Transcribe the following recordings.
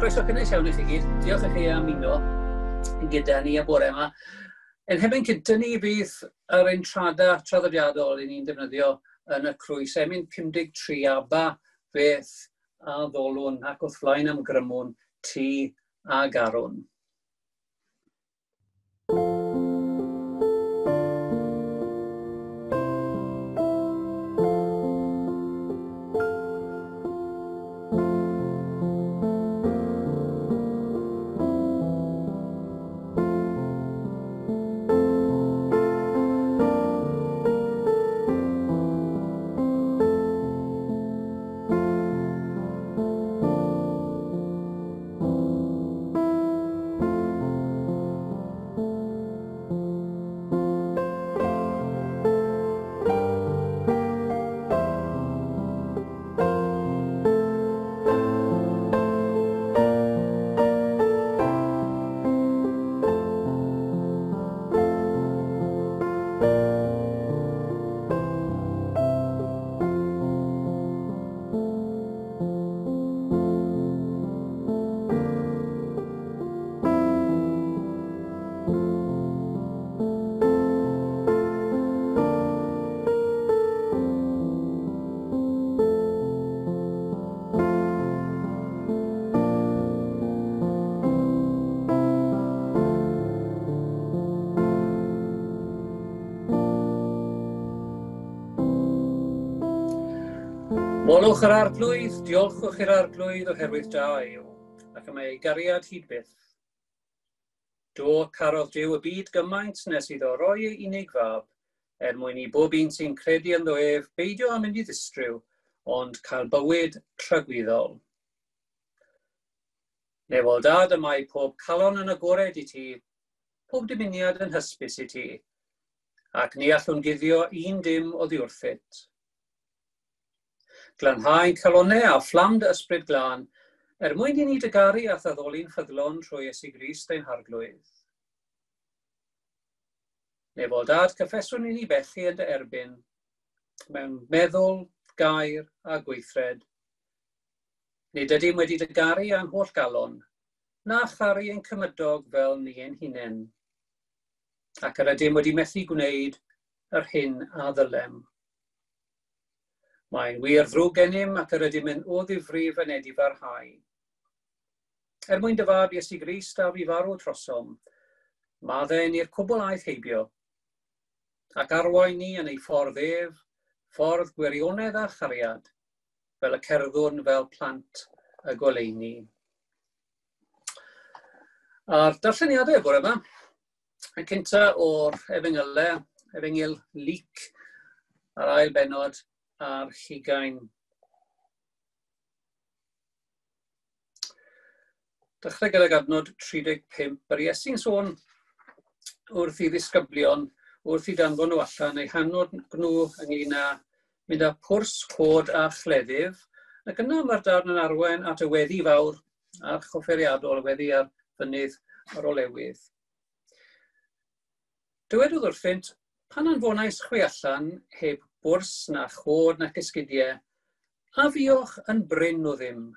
Croeso cynnes iawn i chi gyd. Diolch i chi am uno gyda ni y bore yma. Ein hemyn cynta ni bydd yr entrada traddodiadol i ni'n defnyddio yn y crwys. Emyn 53 aba beth a ddolwn ac wrth flaen am grymwn ti a garwn. Molwch yr arglwydd, diolchwch i'r arglwydd oherwydd da yw, ac y mae ei gariad hyd byth. Do, carodd Duw y byd gymaint nes iddo roi ei unig fab, er mwyn i bob un sy'n credu ynddo ef beidio â mynd i ddistryw, ond cael bywyd tragwyddol. Nefol dad y mae pob calon yn agored i ti, pob dymuniad yn hysbys i ti, ac ni allwn guddio un dim oddi wrthyt. Glanhau calonnau a fflam dy ysbryd glân, er mwyn i ni dy garu a thaddoli'n ffyddlon trwy Iesu Grist ein harglwydd. Nefol dad, cyffeswn i ni bechu yn dy erbyn, mewn meddwl, gair a gweithred. Nid ydym wedi dy garu a'n holl galon, na charu ein cymydog fel ni ein hunain. Ac yr ydym wedi methu gwneud yr hyn a ddylem. Mae'n wir ddrwg gennym ac yr ydym yn o ddifrif yn edifarhau. Er mwyn dy fab Iesu Grist a fi farw trosom, maddau ni'r cwbl aeth heibio, ac arwain ni yn ei ffordd ef, ffordd gwirionedd a chariad, fel y cerddwn fel plant y goleuni. A'r darlleniadau bore yma, y cynta o'r Efengylau, Efengyl Luc, a'r ail benod ar hugain. Dechrau gydag adnod 35, yr Iesu'n sôn wrth i ddisgyblion, wrth i danfon nhw allan, eu hanod nhw ynglyn â mynd â pwrs, cod a chleddyf, ac yna mae'r darn yn arwain at y weddi fawr a'r chofferiadol, y weddi ar fynydd yr olewydd. Dywedodd wrthynt, pan anfonais chwi allan heb bwrs na chod nac esgidiau, a fuoch yn brin o ddim.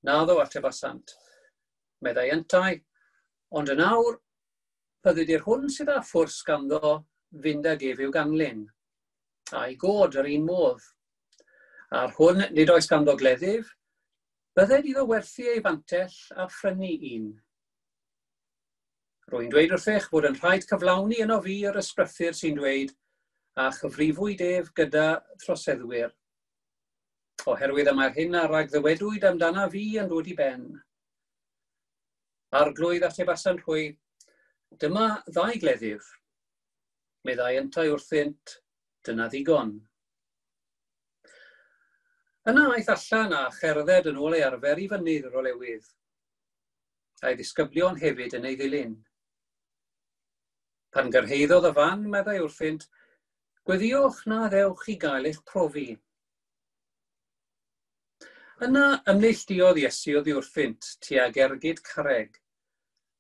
Naddo atebasant, meddai yntau, ond yn awr, bydded i'r hwn sydd â phwrs ganddo fynd ag ef i'w ganlyn, a'i god yr un modd. A'r hwn nid oes ganddo gleddyf, bydded iddo werthu ei fantell a phrynu un. Rwy'n dweud wrthych fod yn rhaid cyflawni yno fi yr ysbrythur sy'n dweud, a chyfrifwyd ef gyda throseddwyr. Oherwydd y mae'r hyn a ragddywedwyd amdana fi yn dod i ben. Arglwydd atebasant hwy, dyma ddau gleddyf. Meddai yntau wrthynt, dyna ddigon. Yna aeth allan a cherdded yn ôl ei arfer i fynydd yr olewydd. A'i ddisgyblion hefyd yn ei ddilyn. Pan gyrhaeddodd y fan, meddai wrthynt, gweddiwch na ddewch i gael eich profi. Yna ymneilltuodd Iesu oddi wrthynt tuag ergyd carreg,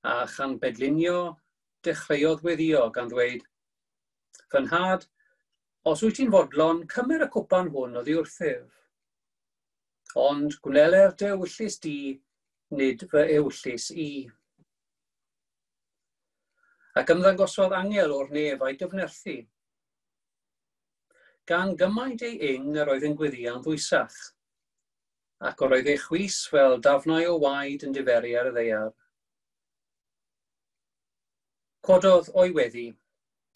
a chan bedlinio dechreuodd weddio gan ddweud, Fy nhad, os wyt ti'n fodlon, cymer y cwpan hwn oddi wrthyf. Ond gwneler dy ewyllys di, nid fy ewyllys i. Ac ymddangosodd angel o'r nef a'i gyfnerthu. Gan gymaint ei ing yr oedd yn gweddïo'n ddwysach, ac yr oedd ei chwys fel dafnau o waed yn diferu ar y ddaear. Cododd o'i weddi,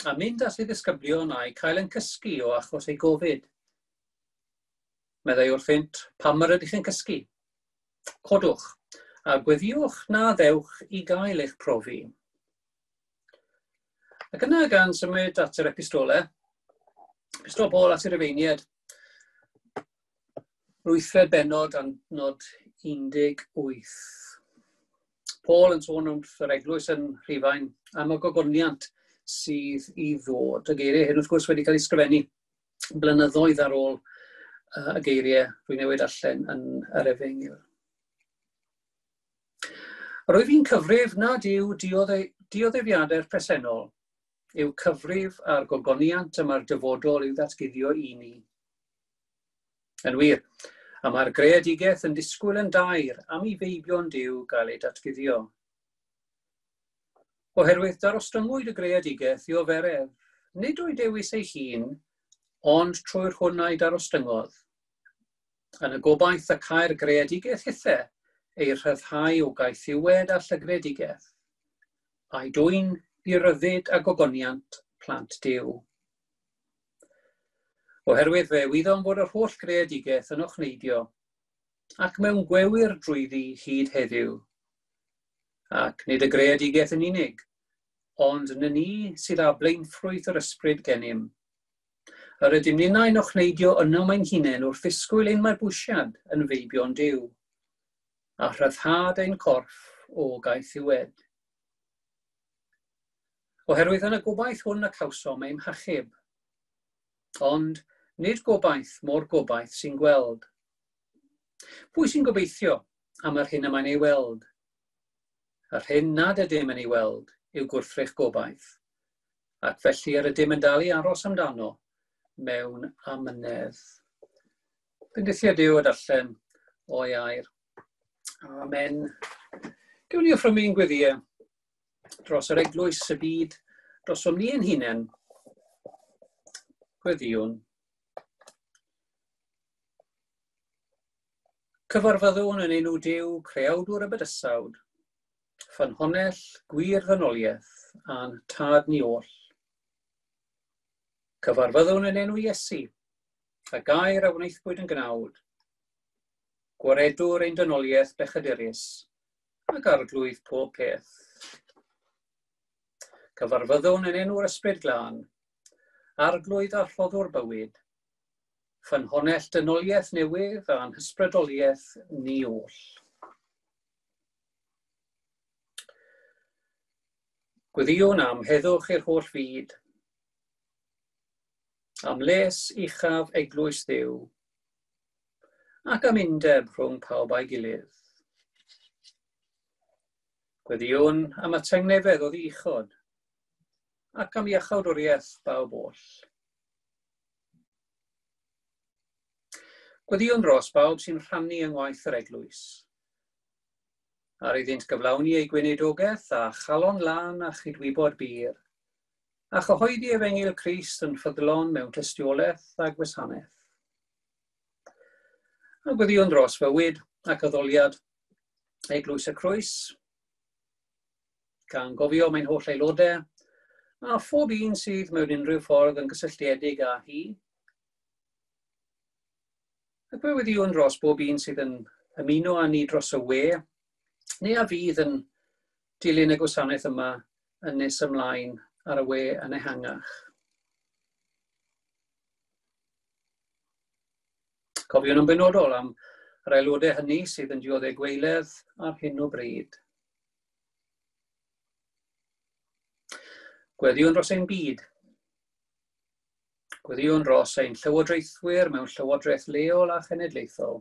a mynd at ei ddisgyblion a'u cael yn cysgu o achos ei gofid. Meddai wrthynt, pam yr ydych yn cysgu? Codwch, a gweddïwch na ddewch i gael eich profi. Ac yna gan symud at yr epistole, epistol Paul at yr Rufeiniaid, wythfed bennod adnod 18. Paul yn sôn wrth yr eglwys yn Rhufain am y gogoniant sydd i ddod. Y geiriau hyn wrth gwrs wedi cael eu sgrifennu blynyddoedd ar ôl y geiriau rwy'n newid allan yn yr Efengyl. Yr wyf i'n cyfrif nad yw dioddefiadau'r presennol yw cyfrif a'r gogoniant y mae'r dyfodol i'w ddatguddio i ni. Yn wir, a mae'r greadigaeth yn disgwyl yn daer am i feibion Duw gael ei datguddio. Oherwydd darostyngwyd y greadigaeth i oferedd, nid o'i dewis ei hun, ond trwy'r hwn a'i darostyngodd. Yn y gobaith y cael greadigaeth hithe ei rhyddhau o gaethiwed a llygredigaeth, a'i dwyn i ryddid a gogoniant plant Duw. Oherwydd fe wyddom fod yr holl greadigaeth yn ochneidio, ac mewn gwewyr drwyddi hyd heddiw. Ac nid y greadigaeth yn unig, ond ny ni sydd â blaenffrwyth yr ysbryd gennym. Yr ydym ninnau'n ochneidio yno ein hunain wrth ddisgwyl ein mabwysiad yn feibion Duw, a rhyddhad ein corff o gaethiwed. Oherwydd yn y gobaith hwn y cawsom ein hachub. Ond nid gobaith mor gobaith sy'n gweld. Pwy sy'n gobeithio am yr hyn y mae'n ei weld? Yr hyn nad ydym yn ei weld yw gwrthrych gobaith, ac felly yr ydym yn dal i aros amdano mewn amynedd. Bendithio Duw a darllen o'i air. Amen. Gewn ni offrymu'n gweddïau dros yr eglwys, y byd, drosom ni ein hunain. Gweddïwn. Cyfarfyddwn yn enw Duw, creawdwr y bydysawd, ffynhonnell gwir ddynoliaeth a'n tad ni oll. Cyfarfyddwn yn enw Iesu, y gair a wnaethpwyd yn gnawd, gwaredwr ein dynoliaeth bechadurus, ac arglwydd pob peth. Cyfarfyddwn yn enw'r Ysbryd Glân, arglwydd a rhoddwr bywyd, ffynhonnell dynoliaeth newydd a'n hysbrydoliaeth ni oll. Gweddïwn am heddwch i'r holl fyd, am les uchaf eglwys Dduw, ac am undeb rhwng pawb a'i gilydd. Gweddïwn am y tangnefedd oddi uchod, ac am iachawdwriaeth bawb oll. Gweddïwn dros bawb sy'n rhannu yng ngwaith yr eglwys, ar iddynt gyflawni eu gweinidogaeth a chalon lân a chydwybod bur, a chyhoeddi efengyl Crist yn ffyddlon mewn tystiolaeth a gwasanaeth. A gweddïwn dros fywyd ac addoliad Eglwys y Crwys, gan gofio mae'n holl aelodau, a phob un sydd mewn unrhyw ffordd yn gysylltiedig â hi. Ac fe weddïwn dros bob un sydd yn ymuno â ni dros y we, neu a fydd yn dilyn y gwasanaeth yma yn nes ymlaen ar y we yn ehangach. Cofiwn yn benodol am yr aelodau hynny sydd yn dioddef gweiledd ar hyn o bryd. Gweddïwn dros ein byd. Gweddïwn dros ein llywodraethwyr mewn llywodraeth leol a chenedlaethol.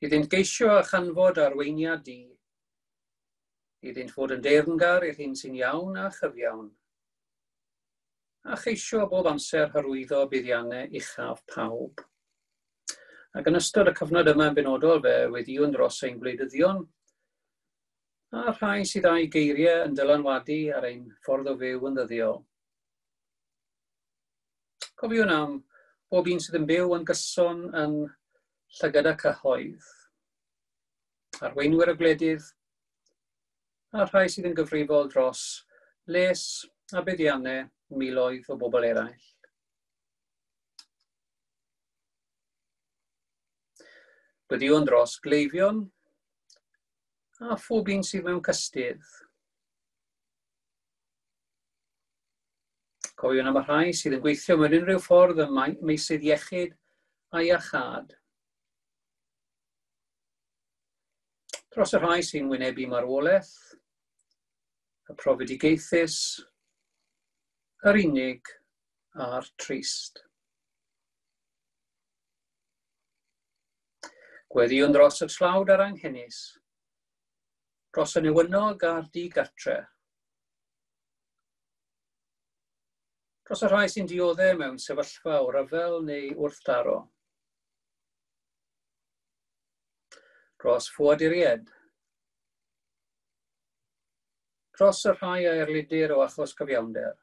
Iddynt geisio a chanfod arweiniad di. Iddynt fod yn deyrngar i'r hyn sy'n iawn a chyfiawn. A cheisio bob amser hyrwyddo buddiannau uchaf pawb. Ac yn ystod y cyfnod yma yn benodol fe weddïwn dros ein gwleidyddion a rhai sydd â'i geiriau yn dylanwadu ar ein ffordd o fyw yn ddyddiol. Cofiwn am bob un sydd yn byw yn gyson yn llygad y cyhoedd, arweinwyr y gwledydd, a rhai sydd yn gyfrifol dros les a buddiannau miloedd o bobl eraill. Gweddïwn dros gleifion a phob un sydd mewn cystudd. Cofiwn am y rhai sydd yn gweithio mewn unrhyw ffordd ym meysydd iechyd a iachâd. Dros y rhai sy'n wynebu marwolaeth, y profedigaethus, yr unig a'r trist. Gweddïwn dros y tlawd a'r anghenus, dros y newynog a'r digartre, dros y rhai sy'n dioddef mewn sefyllfa o ryfel neu wrthdaro, dros ffoaduriaid, dros y rhai a erlidir o achos cyfiawnder.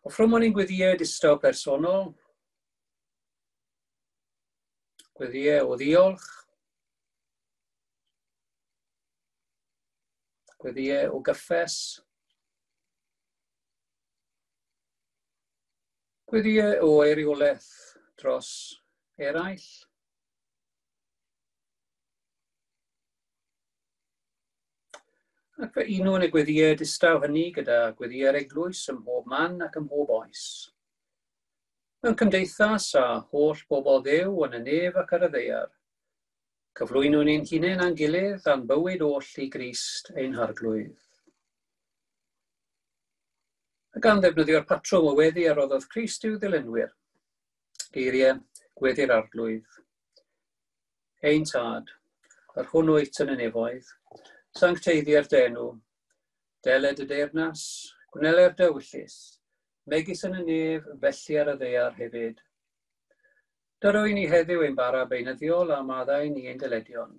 Offrymwn ein gweddïau distaw personol, gweddïau o ddiolch, gweddïau o gyffes, gweddïau o eiriolaeth dros eraill, Ac fe unwn y gweddïau distaw hynny gyda gweddïau'r eglwys ym mhob man ac ym mhob oes. Mewn cymdeithas â holl bobl Dduw yn y nef ac ar y ddaear, cyflwynwn ein hunain a'n gilydd a'n bywyd oll i Grist ein Harglwydd. A gan ddefnyddio'r patrwm o weddi a roddodd Crist i'w ddilynwyr, geiriau gweddi'r Arglwydd. Ein Tad, yr hwn wyt yn y nefoedd, sancteiddier dy enw, deled y deyrnas, gwneler dy ewyllys, megis yn y nef, felly ar y ddaear hefyd. Dyro i ni heddiw ein bara beunyddiol a maddau ni ein dyledion,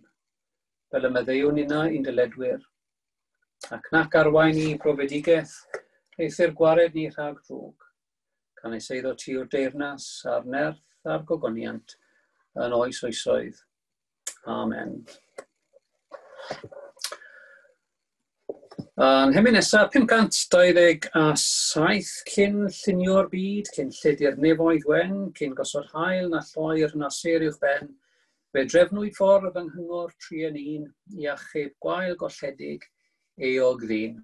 fel y maddeuwn inna i'n dyledwyr. Ac nac arwain ni i brofedigaeth, eithr gwared ni rhag drwg. Canys eiddo ti yw'r deyrnas a'r nerth a'r gogoniant yn oes oesoedd. Amen. A'n hemyn nesaf, 527, cyn llunio'r byd, cyn lledu'r nefoedd wen, cyn gosod haul na lloer na sêr uwch ben, fe drefnwyd ffordd yng nghyngor 3 yn 1 i achub gwael golledig euog ddyn.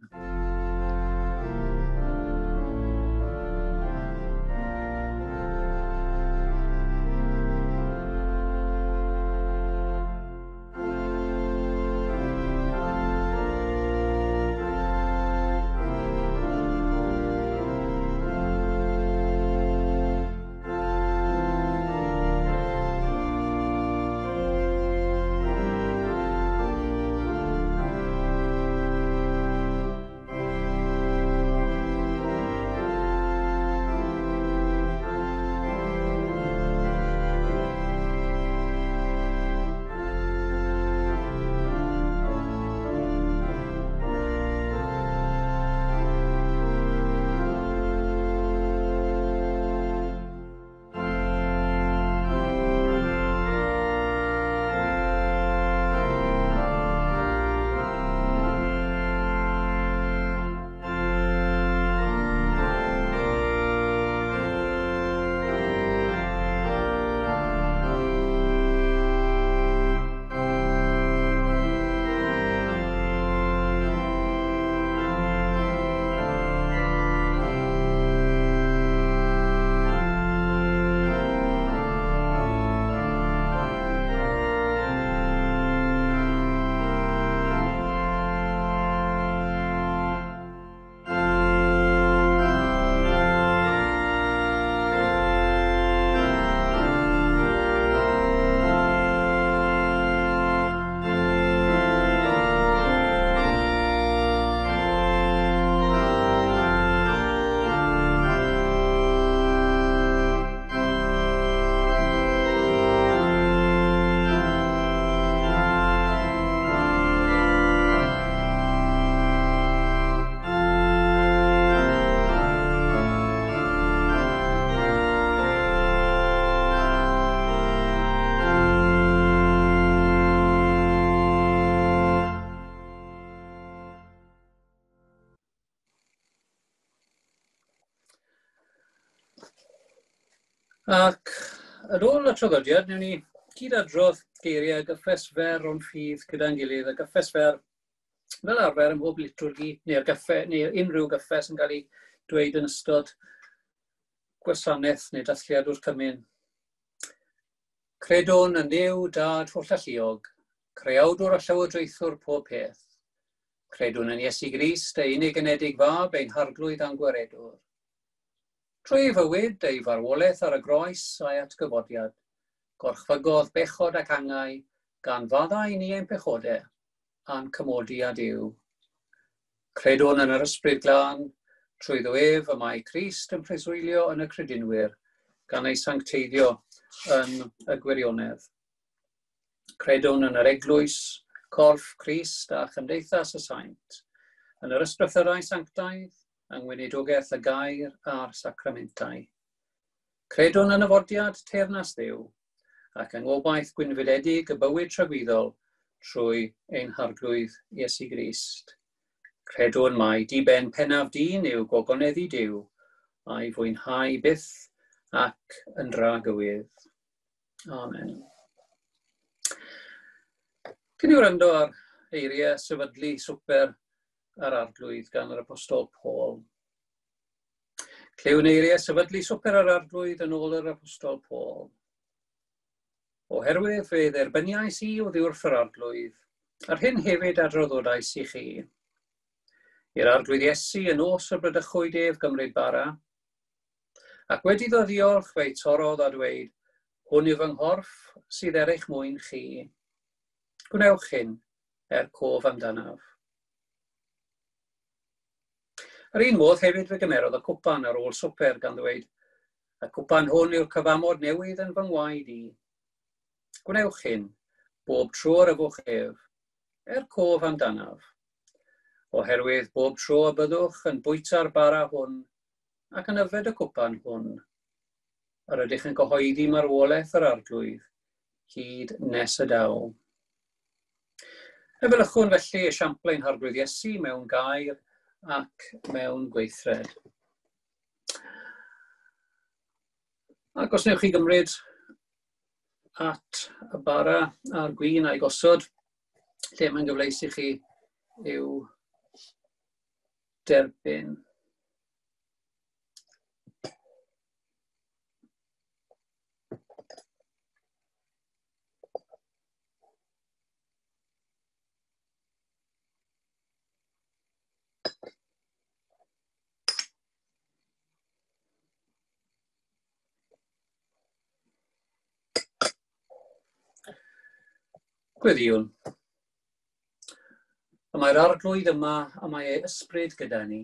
Ac yn ôl y traddodiad, wnawn ni gyd-adrodd geiriau gyffes fer o'n ffydd gyda'n gilydd, a gyffes fer fel arfer ym mhob litwrgi neu'r gyffe, neu unrhyw gyffes yn cael ei dweud yn ystod gwasanaeth neu dathliad o'r cymun. Credwn yn Dduw Dad Hollalluog, creawdwr a llywodraethwr pob peth. Credwn yn Iesu Grist, ei unig genedig fab, ein harglwydd a'n gwaredwr. Trwy ei fywyd, ei farwolaeth ar y groes a'i atgyfodiad, gorchfygodd bechod ac angau, gan faddau ni ein pechodau, a'n cymodi â Duw. Credwn yn yr Ysbryd Glân, trwyddo ef y mae Crist yn preswylio yn y credinwyr, gan ei sancteiddio yn y gwirionedd. Credwn yn yr Eglwys, corff Crist a chymdeithas y saint, yn yr ysgrythyrau sanctaidd, yng ngweinidogaeth y gair a'r sacramentau. Credwn yn nyfodiad teyrnas Dduw, ac yng ngobaith gwynfydedig y bywyd tragwyddol trwy ein Harglwydd Iesu Grist. Credwn mai diben pennaf dyn yw gogoneddu Duw a'i fwynhau byth ac yn dragywydd. Amen. Cyn i wrando ar eiriau sefydlu swper yr Arglwydd gan yr Apostol Paul. Clywn eiriau sefydlu swper yr Arglwydd yn ôl yr Apostol Paul. Oherwydd fe dderbyniais i oddi wrth yr Arglwydd, a'r hyn hefyd adroddodais i chi. I'r Arglwydd Iesu y nos y bradychwyd ef gymryd bara, ac wedi iddo ddiolch fe'i torrodd a dweud, hwn yw fy nghorff sydd er eich mwyn chi. Gwnewch hyn er cof amdanaf. Yr un modd hefyd fe gymerodd y cwpan ar ôl swper gan ddweud, y cwpan hwn yw'r cyfamod newydd yn fy ngwaed i. Gwnewch hyn, bob tro yr yfwch ef, er cof amdanaf. Oherwydd bob tro y byddwch yn bwyta'r bara hwn ac yn yfed y cwpan hwn, yr ydych yn cyhoeddi marwolaeth yr Arglwydd hyd nes y daw. Efelychwn felly esiampl ein Harglwydd Iesu mewn gair ac mewn gweithred. Ac os newch chi gymryd at y bara a'r gwin a'i gosod, lle mae'n gyfleus i chi i'w derbyn. Gweddïwn. Y mae'r Arglwydd yma a mae ei ysbryd gyda ni.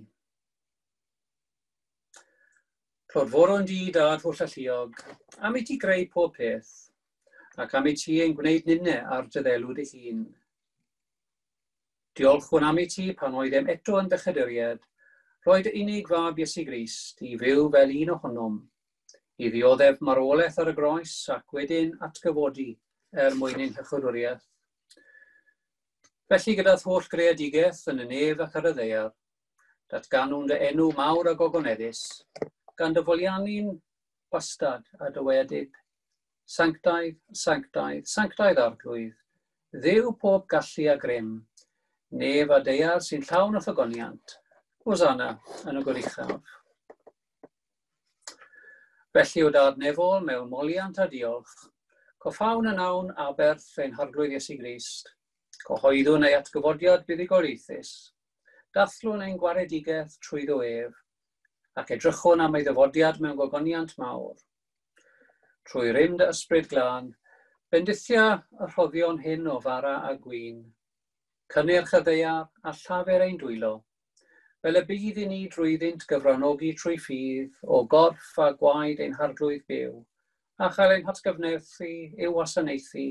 Clodforon di, Dad Hollalluog, am i ti greu pob peth, ac am i ti ein gwneud ninne ar dy ddelw dy hun. Diolchwn am i ti pan oeddem eto yn bechaduriaid, rhoi dy unig fab Iesu Grist i fyw fel un ohonom, i ddioddef marwolaeth ar y groes ac wedyn atgyfodi er mwyn ein hychwydwriaeth. Felly gyda'r holl greadigaeth yn y nef ac ar y ddaear, datganwn dy enw mawr a gogoneddus, gan dy foliannu'n wastad a dywedyd, Sanctaidd, sanctaidd, sanctaidd Arglwydd, Dduw pob gallu a grym, nef a daear sy'n llawn o ffygoniant, Hosanna yn y goruchaf. Felly o Dad nefol mewn moliant a diolch, coffawn yn awn aberth ein Harglwydd Iesu Grist, cyhoeddwn ei atgyfodiad buddugoliaethus, dathlwn ein gwaredigaeth trwyddo ef, ac edrychwn am ei ddyfodiad mewn gogoniant mawr. Trwy rym dy ysbryd glân, bendithia y rhoddion hyn o fara a gwin, cynnyrch y ddaear a llafur ein dwylo, fel y bydd i ni drwyddynt gyfranogi trwy ffydd o gorff a gwaed ein Harglwydd byw, a chael ein hatgyfnerthu i'w wasanaethu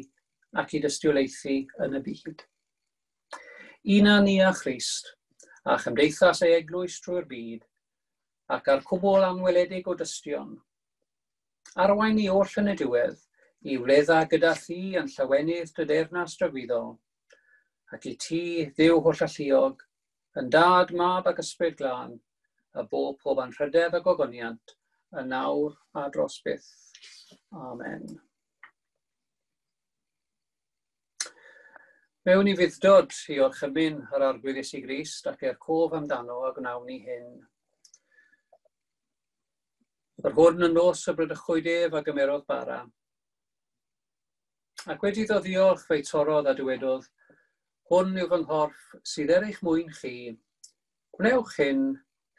ac i dystiolaethu yn y byd. Una ni â Christ, a chymdeithas ei eglwys trwy'r byd, ac â'r cwbl anweledig o dystion. Arwain ni oll yn y diwedd, i wledda gyda thi yn llawenydd dy deyrnas dragwyddol, ac i ti, Dduw hollalluog, yn Dad, Mab ac Ysbryd Glân, y bo pob anrhydedd a gogoniant, yn nawr a dros byth. Amen. Mewn i fuddod i orchymyn yr Arglwydd Iesu Grist ac er cof amdano a gwnawn ni hyn. Yr hwn yn nos y bradychwyd ef a gymerodd bara. Ac wedi iddo ddiolch fe'i torrodd a dywedodd, Hwn yw fy nghorff sydd er eich mwyn chi. Gwnewch hyn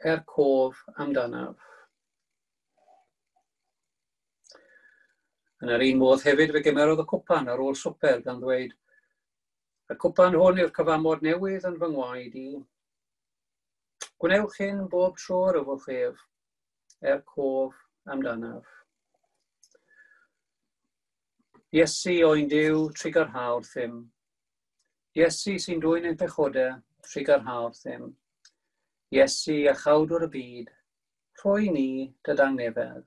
er cof amdanaf. Yn yr un modd hefyd fe gymerodd y cwpan ar ôl swper gan ddweud, Y cwpan hwn yw'r cyfamod newydd yn fy ngwaed i. Gwnewch hyn bob tro yr yfwch ef, er cof amdanaf. Iesu oen Duw, trugarha wrthym. Iesu sy'n dwyn ein pechodau, trugarha wrthym. Iesu a chawdwr y byd, rhoi ni dy dangnefedd.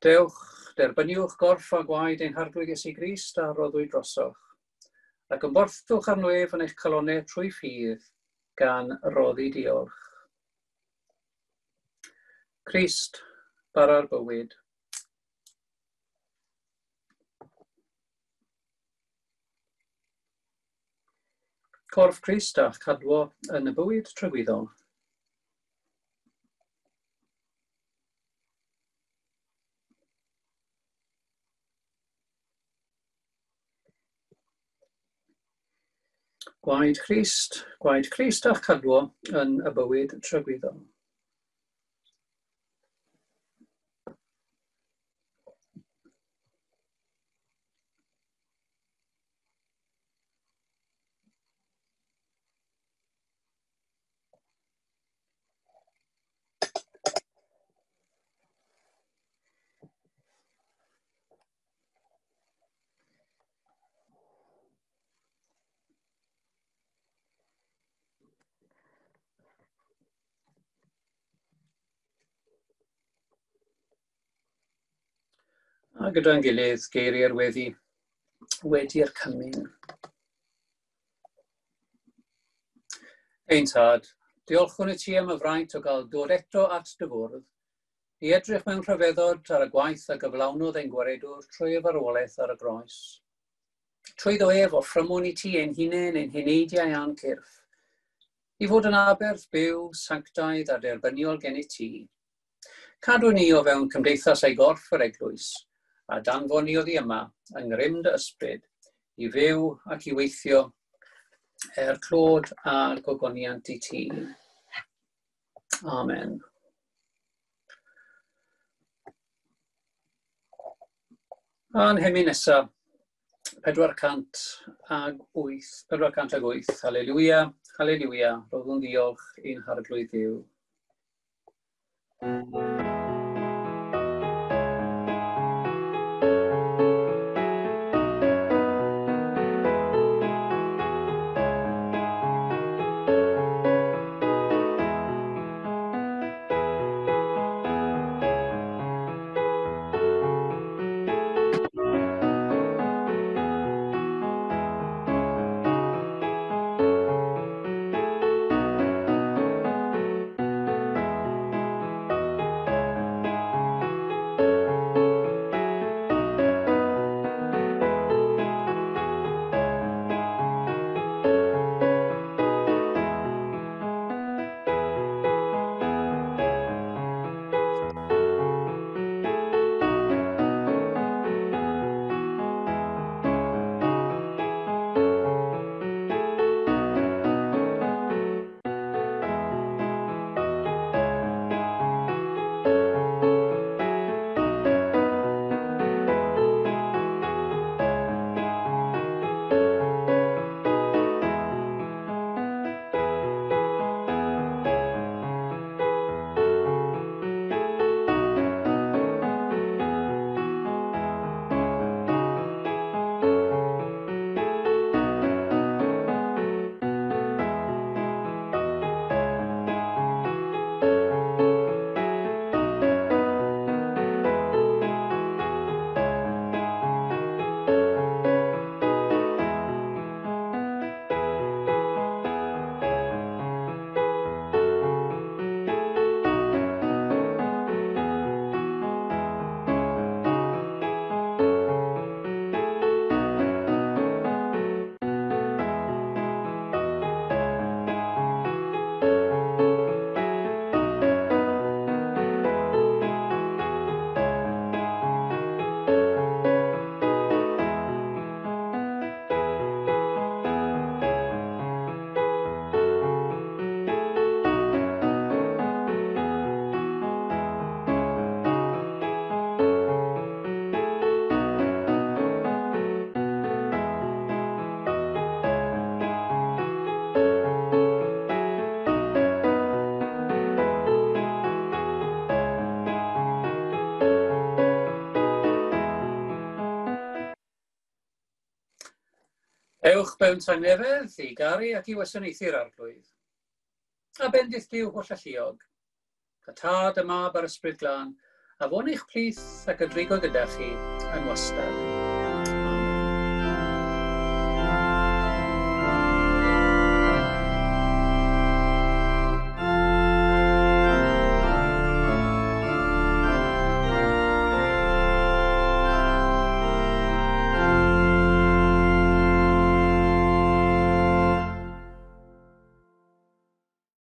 Dewch, derbyniwch gorff a gwaed ein Harglwydd Iesu Grist a roddwyd drosoch, ac ymborthwch arno ef yn eich calonnau trwy ffydd, gan roddi diolch. Crist, bara'r bywyd. Corff Crist a'ch cadwo yn y bywyd tragwyddol. Gwaed Crist, gwaed Crist a'ch cadwo yn y bywyd tragwyddol. A gyda'n gilydd, geiriau'r weddi wedi'r cymun. Ein tad, diolchwn i ti am y fraint o gael dod eto at dy fwrdd, i edrych mewn rhyfeddod ar y gwaith a gyflawnodd ein gwaredwr trwy y farwolaeth ar y groes. Trwyddo ef offrymwn i ti ein hunain, ein heneidiau a'n cyrff, i fod yn aberth byw, sanctaidd a derbyniol gennyt ti. Cadw ni o fewn cymdeithas a'i gorff yr eglwys, a danfon ni oddi yma yng ngrym dy ysbryd, i fyw ac i weithio er clod a gogoniant i ti. Amen. A'n hemyn nesaf, 408, 408, haleluia, haleluia, roddwn ddiolch i'n Harglwydd Dduw. Mewn tangnefedd i garu ac i wasanaethu'r Arglwydd. A bendith Duw holl alluog, y Tad, y Mab a'r Ysbryd Glân, a fo'n eich plith ac y drigo gyda chi yn wastad.